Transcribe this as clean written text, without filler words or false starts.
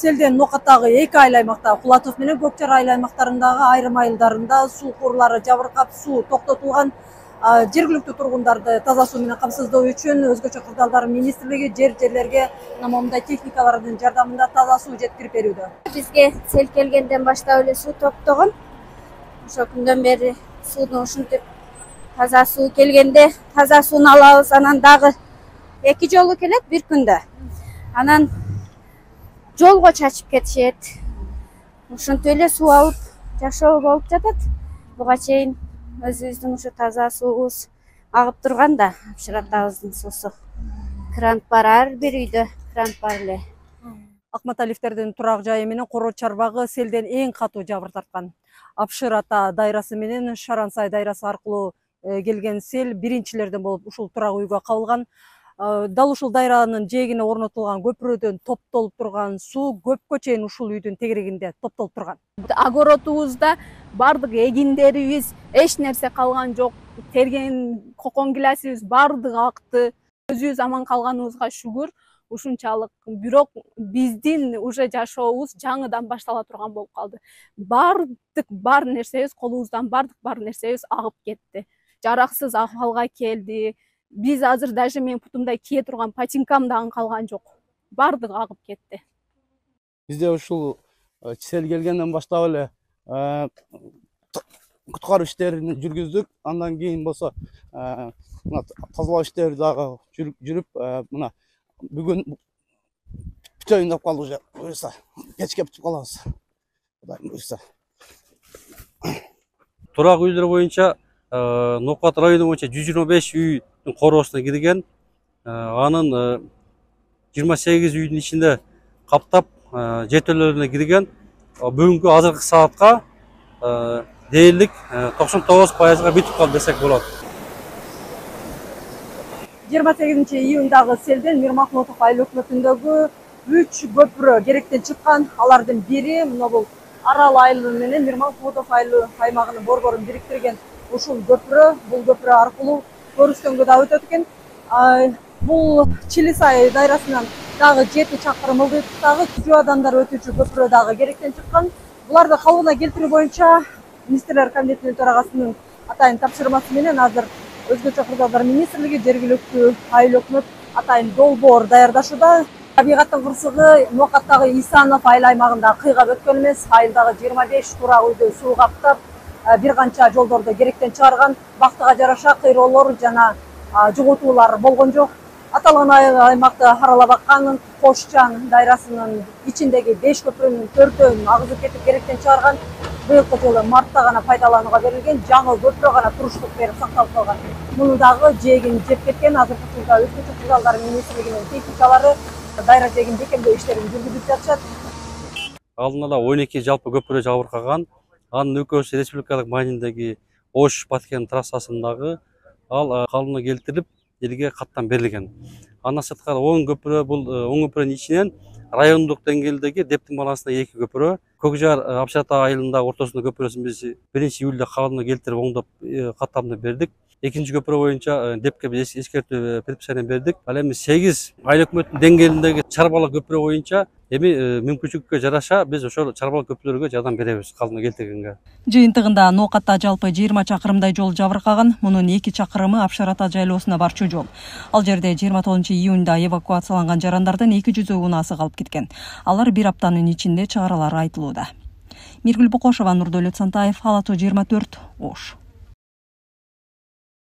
селден Ноокаттагы 2 айыл аймакта, Кулатов менен Көк Чар айыл аймактарындагы айрым айылдарында суу курлары жабыркап, суу токтотулган. Жергиликтүү тургундарды таза суу менен камсыздоо үчүн Өзгөчө кырдаалдар министрлиги жерлерге момундай техникалардын жардамында таза суу жеткирип берүүдө. Бизге сел келгенден баштап эле суу токтогон. Ошо күндөн бери суунун ушинтип таза суу келгенде таза сууну алабыз. Анан дагы 2 жолу келет бир күндө. Анан жолго чачып кетишет. Ушинтип эле суу алып жашоо болуп жатат. Буга чейин өзүбүздүн ушу таза суубуз агып турган да, Апшыр атабыздын суусу. Кран бар, ар бир үйдө кран бар эле. Акматалиевтердин турак жайы менен Коро Чарбагы селден эң катуу жабыр тарткан. Апшыр ата дайрасы менен Шарансай дайрасы аркылуу келген сел биринчилерден болуп ушул турак үйгө кабылган. Дал ушул дайранын жээгине орнотулган көпүрөдөн топтолуп турган суу көпкө чейин ушул үйдүн тегерегинде топтолуп турган. Огородубузда бардык эгиндерибиз эч нерсе калган жок. Терген кокон гиласыбыз бардыгы акты. Өзүбүз аман калганыбызга шүгүр. Ушунчалык. Бирок биздин уже жашообуз жаңыдан баштала турган болуп калды. Бардык бар нерсебиз, колубуздан бардык бар нерсебиз агып кетти. Жараксыз акыбалга келди. Биз азыр даже мен путумда кие турган патинкам дагы калган жок. Бардыгы агып кетти. Бизде ушул сел келгенден баштап эле куткаруу иштерин жүргүздүк. Андан кийин болсо тазалоо иштери дагы жүрүп, мына бүгүн бүтөйүн деп калды уже. Буюрса кечке бүтүп калабыз. Кудайым буюрса. Турак үйлөр боюнча Ноокат району боюнча 125 үйдүн короосуна кирген. Анын 28 үйдүн ичинде каптап жетөлөрүнө кирген. Бүгүнкү азыркы саатка дээрлик 99%га бүтүп калды десек болот. 28 июндагы селден Мирмахмутов айыл өкмөтүндөгү 3 көпүрө керектен чыккан. Алардын бири мына бул Арал айылы менен Мирмахмутов айыл аймагынын борборун бириктирген ушул көпүрө, бул көпүрө аркылуу Көрүстөнгө да өтөт экен. Бул Чилисай дайрасынан дагы 7 чакырым ылдыйдыктагы жүзүү адамдар өтүүчү көпүрө дагы керектен чыккан. Буларды калыбына келтирүү боюнча министрлер кабинетинин төрагасынын атайын тапшырмасы менен азыр Өзгөчө кырдаалдар министрлиги жергиликтүү айыл өкмөт атайын долбоор даярдашууда. Табигаттын кырсыгы Ноокаттагы Исанов айыл аймагында кыйгап өткөн эмес. Айылдагы 25 турак үйдү суу каптап, бир канча жолдорду керектен чыгарган. Бактыга жараша кыйроолор жана жугутуулар болгон жок. Аталган аймакты аралап аккан Кошчан дайрасынын ичиндеги 5 көпүрөнүн 4-өн агызып кетип керектен чыгарган. Быйылкы жылы мартта гана пайдаланууга берилген, жаңы көпүрө гана туруштук берип сакталып калган. Муну дагы жээгин жеп кеткен. Азыркы учурда Өзгөчө кырдаалдар министрлигинин техникалары дайра жээгин бекемдөө иштерин жүргүзүп жатышат. Алдын ала 12 жалпы көпүрө жабыркаган. Анын экөөсү республикалык маанидеги Ош-Баткен трассасындагы ал калыбына келтирип, элге каттан берилген. Андан сырткары 10 көпүрө, бул 10 көпүрөнүн ичинен райондук деңгээлдеги Дептин балансында 2 көпүрө, Көк Жар Апшыр ата айылындагы ортосундагы көпүрөсүн биз 1-июлда калыбына келтирип оңдоп каттамды бердик. Экинчи көпүрө боюнча Депке биз эскертүү предписание бердик. Ал эми 8 айыл өкмөттүн деңгээлиндеги чарбалык көпүрө боюнча эми мүмкүнчүлүккө жараша биз ошол чарбалык көпүрөлөргө жардам беребиз калыбына келтиргенге. Жыйынтыгында Ноокатта жалпы 20 чакырымдай жол жабыркаган. Мунун 2 чакырымы Апшыр ата жайлоосуна барчу жол. Ал жерде 29-июнда эвакуацияланган жарандардын 200 унаасы калып кеткен. Алар бир аптанын ичинде чыгарылары айтылууда. Миргүл Бокошова, Нурдөлөт Сантаев, Ала Тоо 24, Ош.